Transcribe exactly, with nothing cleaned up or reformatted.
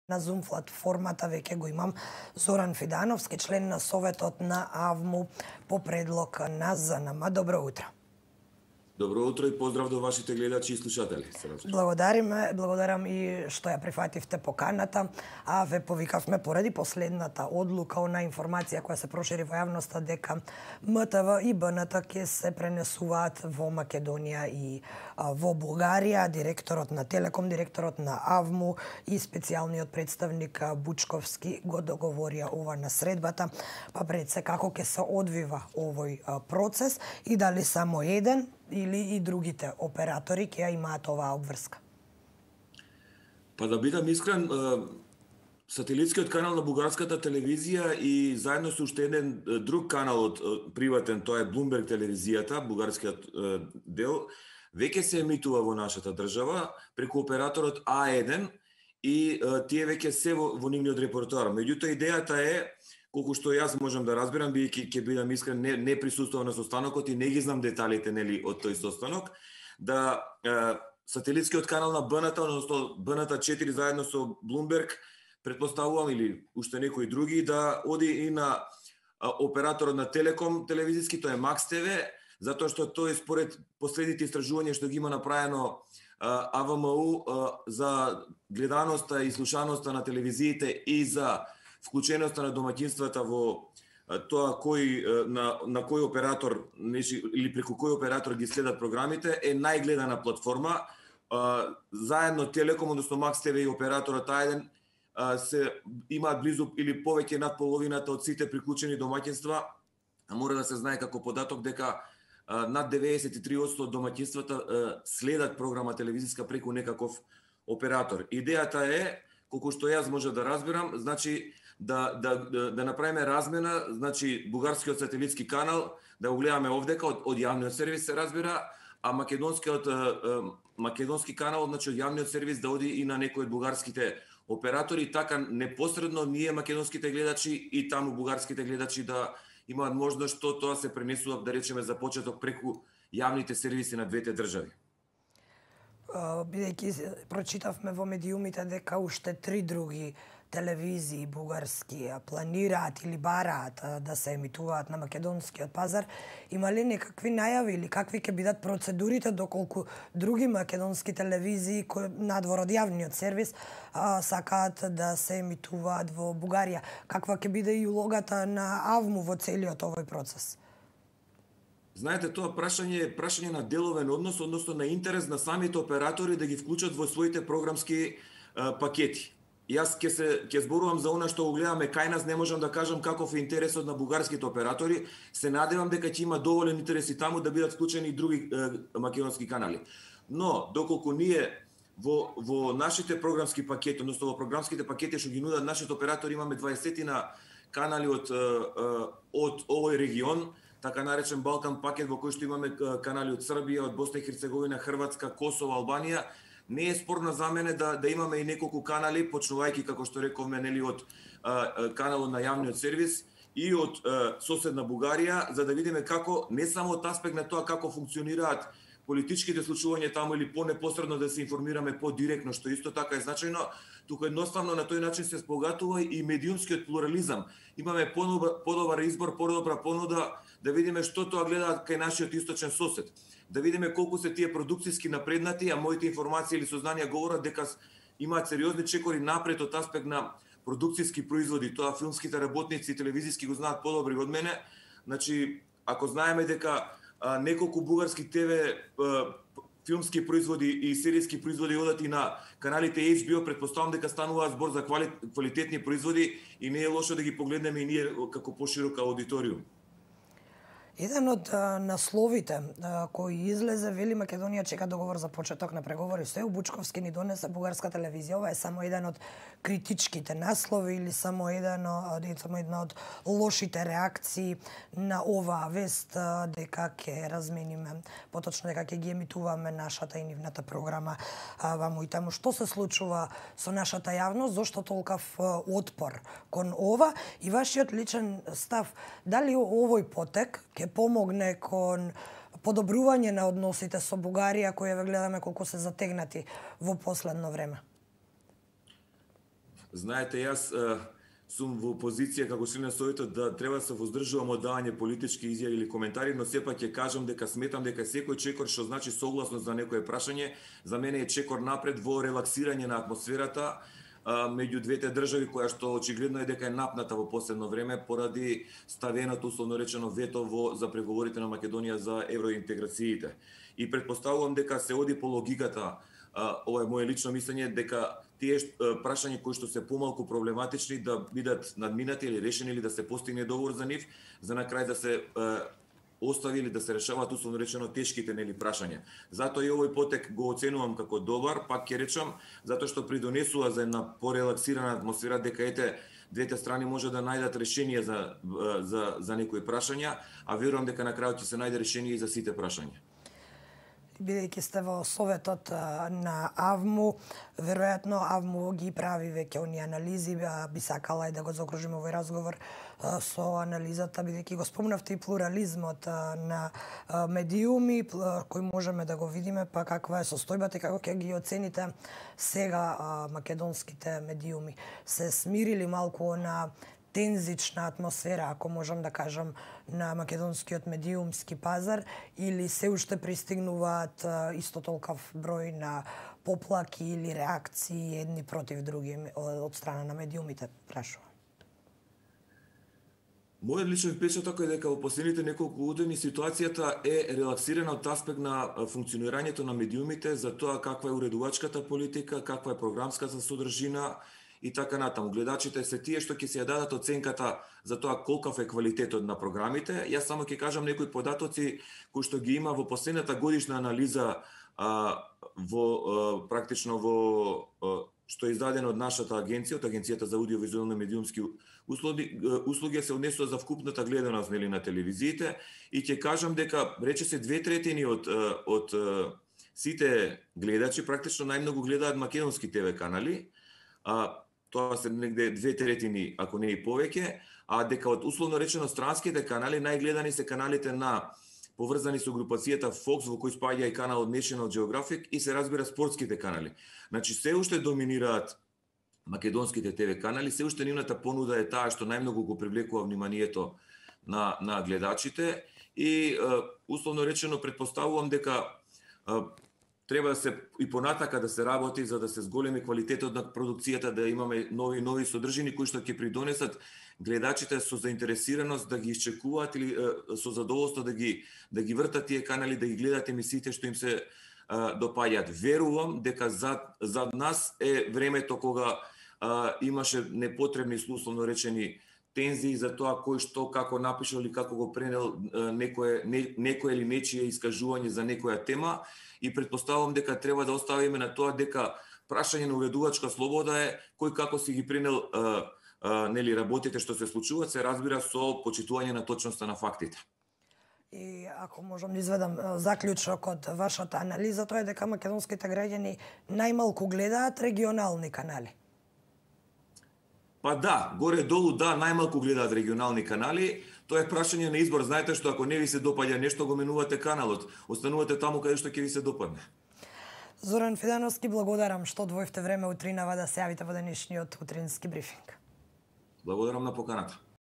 На Zoom платформата веќе го имам Зоран Фидановски, член на Советот на АВМУ по предлог на ЗНМ. Добро утро. Добро утро и поздрав до вашите гледачи и слушатели. Благодариме, благодарам и што ја прифативте поканата, а ве повикавме поради последната одлука, она информација која се прошири во јавноста дека МТВ и БНТ ќе се пренесуваат во Македонија и а, во Бугарија. Директорот на Телеком, директорот на АВМУ и специјалниот представник Бучковски го договорија ова на средбата. Па пред се како ќе се одвива овој а, процес и дали само еден или и другите оператори ќе ја имаат оваа обврска? Па да бидам искрен, сателитскиот канал на бугарската телевизија и заедно со уште еден друг канал од приватен, тоа е Bloomberg телевизијата, бугарскиот дел, веќе се емитува во нашата држава преку операторот А еден и тие веќе се во, во нивниот репертоар. Меѓутоа идејата е, колку што јас можам да разберам, бидејќи ќе бидам искрен, не, не присуствувам на состанокот и не ги знам деталите нели од тој состанок, да е, сателитскиот канал на БНТ, односно БНТ четири заедно со Bloomberg, претпоставувам или уште некои други, да оди и на а, операторот на Телеком телевизиски, тоа е Макс ТВ, затоа што тој според последните истражувања што ги има направено а, АВМУ а, за гледаноста и слушаноста на телевизиите и за вклученоста на домаќинствата во тоа кој на на кој оператор или преку кој оператор ги следат програмите е најгледана платформа. Заедно Телеком, односно Макс ТВ и операторот А еден се имаат близу или повеќе над половината од сите приклучени домаќинства. Мора да се знае како податок дека над деветдесет и три одсто од домаќинствата следат програма телевизиска преку некаков оператор. Идејата е, колку што јас може да разбирам, значи да да да, да направиме размена, значи бугарскиот сателитски канал да го гледаме овдека од, од јавниот сервис се разбира, а македонскиот македонски канал, значи од јавниот сервис да оди и на некои од бугарските оператори, така непосредно ние македонските гледачи и таму бугарските гледачи да имаат можност што тоа се пренесува, да речеме за почеток преку јавните сервиси на двете држави. Бидејќи прочитавме во медиумите дека уште три други телевизии бугарски планираат или бараат да се емитуваат на македонскиот пазар, има ли некакви најави или какви ќе бидат процедурите доколку други македонски телевизии кои надвор од јавниот сервис а, сакаат да се емитуваат во Бугарија? Каква ќе биде и улогата на АВМУ во целиот овој процес? Знаете, тоа прашање е прашање на деловен однос, односно на интерес на самите оператори да ги вклучат во своите програмски а, пакети. Јас ќе се ќе зборувам за она што го гледаме кај нас, не можам да кажам каков е интересот на бугарските оператори. Се надевам дека ќе има доволен интерес и таму да бидат вклучени и други е, македонски канали. Но доколку ние во во нашите програмски пакети, односно во програмските пакети што ги нудат нашите оператори, имаме дваесетина канали од од овој регион, така наречен Балкан пакет, во кој што имаме канали од Србија, од Босна и Херцеговина, Хрватска, Косово, Албанија. Не е спорно за мене да да имаме и неколку канали, почнувајќи како што рековме нели од а, каналот на јавниот сервис и од а, соседна Бугарија, за да видиме како не само од аспект на тоа како функционираат политичките случувања таму или по-непосредно да се информираме по-директно, што исто така е значајно, туку едноставно на тој начин се спогатува и медиумскиот плурализам. Имаме подобар избор, подобра понуда, да видиме што тоа гледаат кај нашиот источен сосед. Да видиме колку се тие продукцијски напреднати, а моите информации или сознанија говорат дека имаат сериозни чекори напред од аспект на продукцијски производи. Тоа филмските работници и телевизиски го знаат подобри од мене. Значи, ако знаеме дека а, неколку бугарски ТВ а, филмски производи и серијски производи одат и на каналите Ейч Би О, претпоставам дека станува збор за квали, квалитетни производи и не е лошо да ги погледнеме и ние како поширока аудиториум. Еден од а, насловите а, кој излезе, вели Македонија чека договор за почеток на преговори. Стој Бучковски ни донесе бугарска телевизија. Ова е само еден од критичките наслови или само еден од само една од лошите реакции на оваа вест а, дека ќе размениме, поточно дека ќе ги емитуваме нашата и нивната програма а, ваму и таму. Што се случува со нашата јавност? Зошто толков а, отпор кон ова? И вашиот личен став, дали овој потек ќе помогне кон подобрување на односите со Бугарија, кои ве гледаме колку се затегнати во последно време? Знаете, јас сум во позиција како член на Советот да треба да се воздржувам од давање политички изјави или коментари, но сепак ќе кажам дека сметам дека секој чекор што значи согласност за некое прашање, за мене е чекор напред во релаксирање на атмосферата меѓу двете држави, која што очигледно е дека е напната во последно време поради ставеното условно речено вето во за преговорите на Македонија за евроинтеграциите. И предпоставувам дека се оди по логиката, ова е моje лично мислење, дека тие прашања кои што се помалку проблематични да бидат надминати или решени или да се постигне договор за нив, за на крај да се остави или да се решаваат условно речено тешките нели прашања. Затоа и овој потек го оценувам како добар, пак ќе речам, затоа што придонесува за една порелаксирана атмосфера дека ете двете страни може да најдат решение за за за некои прашања, а верувам дека на крајот ќе се најде решение и за сите прашања. Бидејќи сте во советот на АВМУ, веројатно АВМУ ги прави веќе оние анализи, би сакала и да го заокружиме овој разговор со анализата, бидејќи го спомнавте и плурализмот на медиуми, кој можеме да го видиме, па каква е состојбата и како ќе ги оцените сега македонските медиуми. Се смирили малку на тензична атмосфера, ако можам да кажам, на македонскиот медиумски пазар, или се уште пристигнуваат исто толков број на поплаки или реакции едни против други од страна на медиумите, прашувам? Мојот личен впечаток е дека во последните неколку години ситуацијата е релаксирана од аспект на функционирањето на медиумите, за тоа каква е уредувачката политика, каква е програмската содржина, и така натаму. Гледачите се тие што ќе се ја дадат оценката за тоа колкав е квалитетот на програмите. Јас само ќе кажам некои податоци кои што ги има во последната годишна анализа а, во а, практично во а, што е издадено од нашата агенција, од Агенцијата за аудиовизуелни медиумски услуги, услуги се однесува за вкупната гледаност нели на телевизиите, и ќе кажам дека речиси две третини од од сите гледачи практично најмногу гледаат македонски ТВ канали. А, тоа се негде две третини, ако не и повеќе, а дека од условно речено странските канали најгледани се каналите на поврзани со групацијата Fox, во кој спаѓа и каналот National Geographic, и се разбира спортските канали. Значи се уште доминираат македонските ТВ канали, се уште нивната понуда е таа што најмногу го привлекува вниманието на на гледачите, и условно речено предпоставувам дека треба да се и понатака да се работи за да се зголеми квалитетот на продукцијата, да имаме нови нови содржини кои што ќе придонесат гледачите со заинтересираност да ги исчекуваат или е, со задоволство да ги да ги вртат тие канали, да ги гледат емисиите што им се е, допаѓаат. Верувам дека зад зад нас е времето кога е, имаше непотребни условно речени тензии за тоа кој што како напишал или како го пренел некое не, некое или нечие искажување за некоја тема, и предпоставувам дека треба да оставиме на тоа дека прашање на уредувачка слобода е кој како си ги пренел а, а, нели работите што се случуваат, се разбира со почитување на точноста на фактите. И ако можам да изведам заклучок од вашата анализа, тоа е дека македонските граѓани најмалку гледаат регионални канали. Па да, горе-долу да, најмалку гледаат регионални канали. Тоа е прашање на избор. Знаете што, ако не ви се допаѓа нешто, го менувате каналот. Останувате таму каде што ќе ви се допадне. Зоран Фидановски, благодарам што одвоивте време утринава да се јавите во денешниот утрински брифинг. Благодарам на поканата.